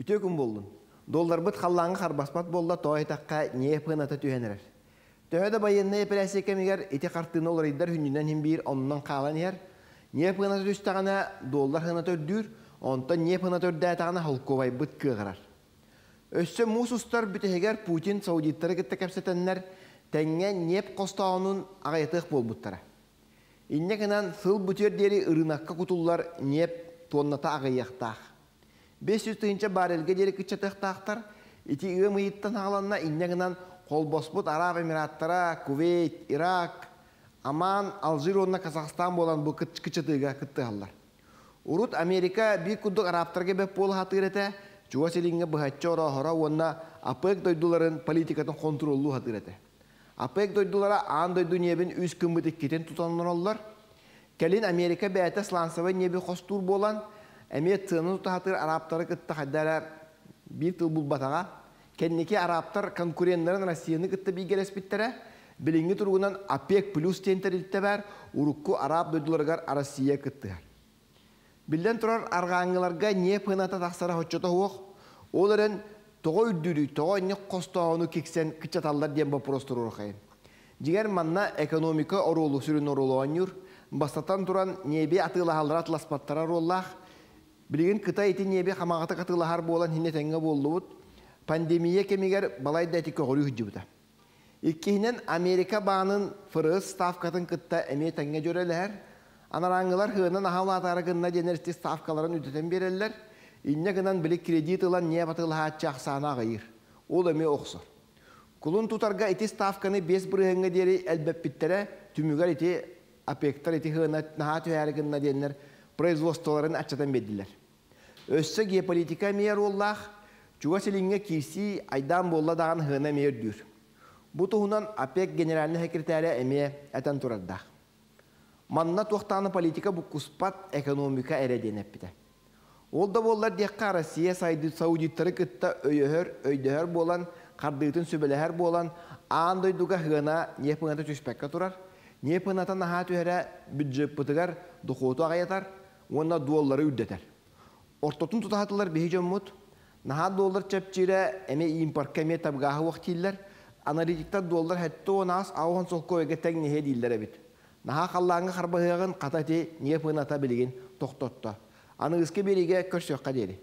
Үтүө күн буоллун. Долларбыт халлааҥҥа харбаспат буолла, тоҕо диэтэххэ, ньиэп сыаната түһэн эрэр. Төһө да байыаннай эпэрээссийэ кэмигэр ити хартыына уларыйдар сүнньүнэн иһин биир оннунан хаалан иһэр. Ньиэп сыаната түстэҕинэ, доллар сыаната үрдүүр, онтон ньиэп сыаната үрдээтэҕинэ, холкуобайбыт кыаҕырар. Өссө муус устар бүтэһигэр Путин саудиттары кытта кэпсэтэннэр, тэҥҥэ ньиэп хостооһунун аҕыйатыах буолбуттара. Инньэ гынан сыл бүтүөр диэри ырыынакка кутуллар ньиэп туонната аҕыйыахтаах. 500 тыһыынча баррельга диэри кыччатыахтаахтар. Ити ыам ыйыттан саҕаланна, инньэ гынан холбоспут Арааб Эмираттара, Кувейт, Ирак, Оман, Алжир уонна Казахстан буолан бу кыччатыыга кыттыһаллар. Урут Америка биир курдук арабтарга бэп буола сатыыр этэ, Чугас Илиҥҥэ быһаччы орооһоро уонна ОПЕК дойдуларын политикатын хонтуруоллуу сатыыр этэ. ОПЕК дойдулара аан дойду ньиэбин үс гыммыт иккитин тутан олороллор. Кэлин Америка бэйэтэ сланцевай ньиэби хостуур буолан, эмиэ сыана тута сатыыр арабтары кытта хайда эрэ биир тыл булбатаҕа. Кэнники арабтар конкуреннарын Россияны кытта бииргэлэспиттэрэ. Билиҥҥи туругунан ОПЕК плюс диэн тэрилтэ баар, урукку араб дойдуларыгар Россия кыттыһар. Биллэн турар, арҕааҥҥыларга ньиэп сыаната тахсара соччото суох. Ол эрэн, тоҕо үрдүүрүй, тоҕо инник хостооһуну киксэн кыччаталлар диэн боппуруос туруорухайын. Дьиҥэр, манна экономика оруолу сүрүн оруолу оонньуур. Бастатан туран, ньиэби атыылаһаллара атыласпаттара оруоллаах. Билигин Кытай ити ньиэби хамаҕатык атыылаһар буолан иһинэ тэҥҥэ буоллубут. Пандемия кэмигэр балайда ити көҕүрүү сылдьыбыта. Иккиһинэн, Америка баанын ФРС ставкатын кытта эмиэ тэҥҥэ дьүөрэлэһэр. Анарааҥҥылар сыанан аһа улаатаары гынна диэн эрти ставкаларын үрдэтэн биэрэллэр. Инньэ гынан били кредит ылан ньиэп атыылаһааччы ахсаана аҕыйыыр. Ол эмиэ охсор. Кулун тутарга ити ставканы 5 бырыһыаҥҥа диэри элбэппиттэрэ, түмүгэр ити ОПЕКтар ити сыана наһаа түһээри гынна диэннэр производстволарын аччатан биэрдилэр. Өссө геополитика эмиэ оруоллаах, Чугас Илиҥҥэ киирсии айдаан буолла даҕаны сыана эмиэ үрдүүр. Бу туһунан ОПЕК генеральнай секретаря эмиэ этэн турардаах. Манна туохтааны политика буккуспат экономика эрэ диэн эппитэ. Ол да буоллар диэххэ, Россия саудиттары кытта өйөһөр, өйдөһөр буолан, хардыытын сүбэлэһэр буолан, аан дойдуга сыана ньиэп сыаната түспэккэ турар. Ньиэп сыаната наһаа түһэрэ бюджеппытыгар дохуоту аҕыйатар уонна дуоллары үрдэтэр. Ортотун тутаһатылар биһи дьоммут. Наһаа доллар чэпчиирэ эмиэ импортка эмиэ табыгаһы уох дииллэр. Аналитиктар доллар 78 аухан солкуойга тэҥнэһиэ дииллэр эбит. Наһаа халлааҥҥа харбаһыаҕын хата ити ньиэп сыаната билигин тохтотто. Аныгыскы биэриигэ көрсүөххэ диэри.